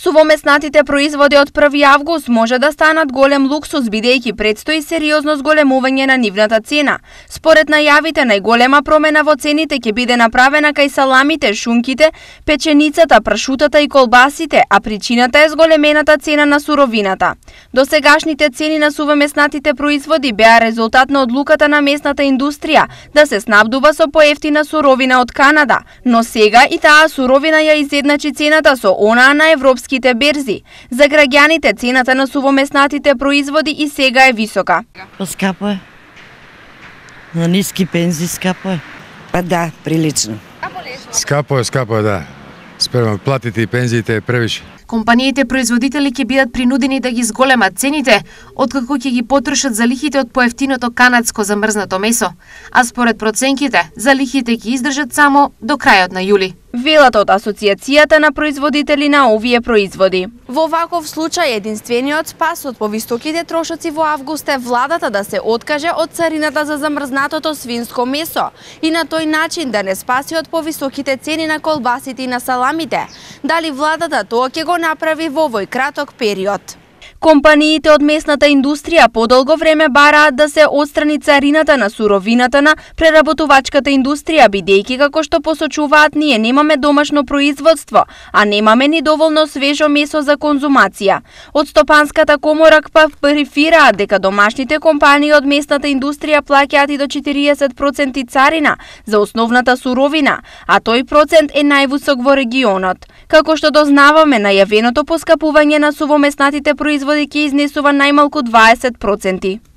Сувомеснатите производи од 1 август може да станат голем луксус бидејќи предстои сериозно зголемување на нивната цена. Според најавите, најголема промена во цените ќе биде направена кај саламите, шунките, печеницата, прашутата и колбасите, а причината е зголемената цена на суровината. Досегашните цени на сувомеснатите производи беа резултат на одлуката на местната индустрија да се снабдува со поевтина суровина од Канада, но сега и таа суровина ја изедначи цената со онаа на европските берзи. За граѓаните цената на сувомеснатите производи и сега е висока. Скапо е. На ниски пензии скапо е. Па да, прилично. Скапо е, да. Спрема платите и пензиите е превише. Компаниите производители ќе бидат принудени да ги зголемат цените, откако ќе ги потрошат залихите од поевтиното канадско замрзнато месо, а според проценките, залихите ќе издржат само до крајот на јули. Велат од Асоциацијата на производители на овие производи. Во ваков случај единствениот спас од повисоките трошоци во август е владата да се откаже од царината за замрзнатото свинско месо и на тој начин да не спаси од повисоките цени на колбасите и на саламите. Дали владата тоа ќе го направи во овој краток период? Компаниите од местната индустрија подолго време бараат да се отстрани царината на суровината на преработувачката индустрија, бидејќи како што посочуваат ние немаме домашно производство, а немаме ни доволно свежо месо за конзумација. Од Стопанската комора префираат дека домашните компании од местната индустрија плаќаат и до 40% царина за основната суровина, а тој процент е највисок во регионот. Како што дознаваме, најавеното поскапување на сувомеснатите производи ќе изнесува најмалку 20%.